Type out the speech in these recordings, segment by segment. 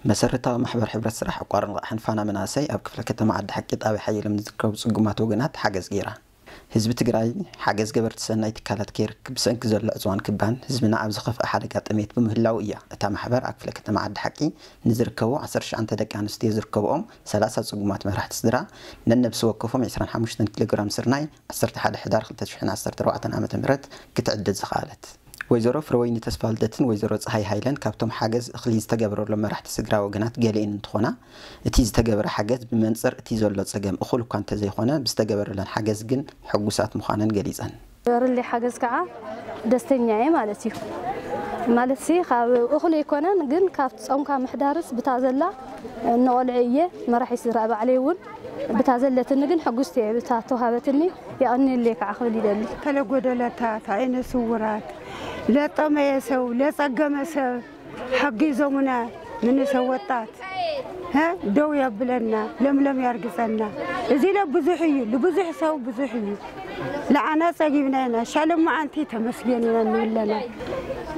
መሰረታዊ ማሕበር ሕብረት ስራሕ ዕቋርን ልቓሕን ፋና መናእሰይ ኣብ ክፍለ ከተማ ዓዲ ሓቂ ጣብያ ሓየሎም ንዝርከቡ ጽጉማት ወገናት ሓገዝ ገይራ። ህዝቢ ትግራይ ሓገዝ ገበርቲ ሰናይ ትካላት ከይርክብ ብሰንኪ ዘሎ ዕፅዋን ክባን ህዝብና ኣብ ዝኸፍአ ሓደጋ ጥሜት ብምህላው እያ። እታ ማሕበር ኣብ ክፍለ ከተማ ዓዲ ሓቂ ንዝርከቡ ዓሰርተ ትሽዓተ ደቂ ኣንስትዮ ዝርከብኦም ሰላሳ ጽጉማት መራሕቲ ስድራ ነነብሲ ወከፎም ዕስራን ሓሙሽተን ኪሎ ግራም ስርናይ ዓሰርተ ሓደ ሕዳር ክልተ ሽሕን ዓሰርተ ኣርባዕተን ዓመተ ምህረት ክትዕድል ዝኸኣለት። ወይዘሮ ፍረወይኒ ተስፋልደትን ወይዘሮ ፀሃይ ሃይለን ካብቶም ሓገዝ እኽሊ ዝተገበረሎም መራሕቲ ስድራ ወገናት ገሊኤን እንትኾና፣ እቲ ዝተገበረ ሓገዝ ብመንፅር እቲ ዘሎ ፀገም እኹል እኳ እንተዘይኾነ ብዝተገበረለን ሓገዝ ግን ሕጉሳት ምዃነን ገሊፀን። ገበርለይ ሓገዝ ከዓ ደስተኛ እየ ማለት እዩ። ማለት ሲ ካብ እኹል ኣይኮነን፣ ግን ካብ ጾምካ ምሕዳርስ ብታ ዘላ ንቆልዑ እየ መራሒ ስድራ ባዕለይ እውን ብታ ዘለትኒ ግን ሕጉስቲ እየ ብታ ተዋሃበትኒ። የቐንየለይ ከዓ ክብል ይደሊ። ከለጎደለታት፣ ዓይነ ስውራት፣ ለጠመየ ሰው፣ ለጸገመ ሰብ ሓጊዞሙና ምንሰ ወጣት ሀ ደው የብለና፣ ለምለም ያርግጸና። እዚ ለ ብዙሕ እዩ፣ ልብዙሕ ሰው ብዙሕ እዩ። ለዓና ጸጊብና ኢና፣ ሻሎም መዓንቲ ተመስገን ኢና እንብለና።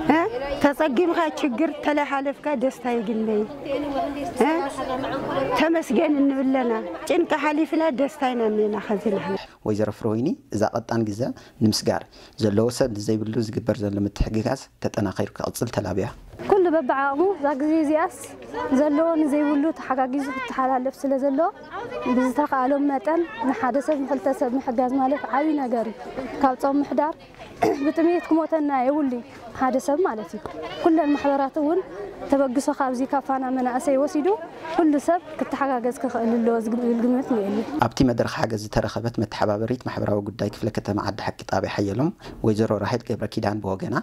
ሀ ተጸጊምካ ችግር ተለሓለፍካ ደስታ ይግነይ። ሀ ተመስገን እንብለና፣ ጭንቂ ሓሊፍና ደስታ ኢና እኒና ከዚ ንሕና። ወይዘሮ ፍረወይኒ እዛ ቀጣን ግዘ ንምስጋር ዘለዎ ሰብ ንዘይብሉ ዝግበር ዘሎ ምትሕግጋዝ ተጠናኺሩ ክቕፅል ተላብያ። ኩሉ በብዓቕሙ እዛ ግዜ እዚኣስ ዘለዎ ንዘይብሉ ተሓጋጊዙ ክተሓላለፍ ስለ ዘለዎ ብዝተኻእሎም መጠን ንሓደ ሰብ ንክልተ ሰብ ምሕጋዝ ማለት ዓብዪ ነገር እዩ። ካብ ጾም ምሕዳር ብጥሜት ክሞተና የብሉን ሓደ ሰብ ማለት እዩ። ኩለን ማሕበራት እውን ተበግሶ ካብዚ ካብ ፋና መናእሰይ ወሲዱ ኩሉ ሰብ ክተሓጋገዝ ክኽእል ኣለዎ ዝብል ግምት እኒኤኒ። ኣብቲ መድረኽ ሓገዝ ዝተረኸበት መተሓባበሪት ማሕበራዊ ጉዳይ ክፍለ ከተማ ዓዲ ሓቂ ጣብያ ሓየሎም ወይዘሮ ራሄል ገብረ ኪዳን ብወገና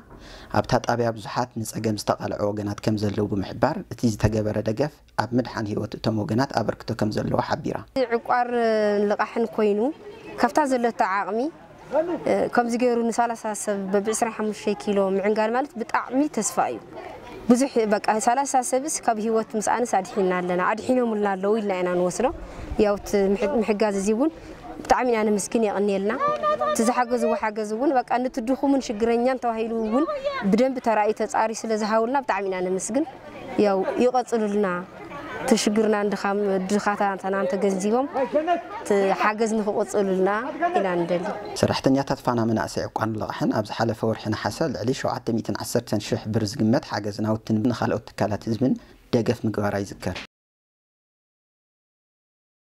ኣብታ ጣብያ ብዙሓት ንፀገም ዝተቓልዑ ወገናት ከም ዘለዉ ብምሕባር እቲ ዝተገበረ ደገፍ ኣብ ምድሓን ህይወት እቶም ወገናት ኣበርክቶ ከም ዘለዎ ሓቢራ። ዕቋር ልቓሕን ኮይኑ ካብታ ዘለቶ ዓቕሚ ከምዚ ገይሩ ንሳላሳ ሰብ በብዕስራን ሓሙሽተ ኪሎ ምዕንጋል ማለት ብጣዕሚ ተስፋ እዩ። ብዙሕ በቃ ሳላሳ ሰብስ ካብ ህይወት ምስኣንስ ኣድሒና ኣለና ኣድሒኖምልና ኣለዉ ኢልና ኢና ንወስዶ። ያው እቲ ምሕ- ምሕጋዝ እዚ እውን ብጣዕሚ ኢና ነመስግን የቐንየልና። እቲ ዝሓገዝዎ ሓገዝ እውን በቃ ነቲ ድኹምን ሽግረኛን ተባሂሉ እውን ብደንቢ ተራእዩ ተፃሪ ስለ ዝሃውልና ብጣዕሚ ኢና ነመስግን። ያው ይቐፅሉልና። እቲ ሽግርና ድኻም ድኻታትና እንተገንዚቦም እቲ ሓገዝ ንክቕፅሉልና ኢና ንደሊ። ሰራሕተኛታት ፋና መናእሰይ ዕቋርን ልቓሕን ኣብ ዝሓለፈ ወርሒ ነሓሰ ልዕሊ ሸውዓተ ሚእትን ዓሰርተን ሽሕ ብር ዝግመት ሓገዝ ናውትን ንኻልኦት ትካላት ህዝብን ደገፍ ምግባራ ይዝከር።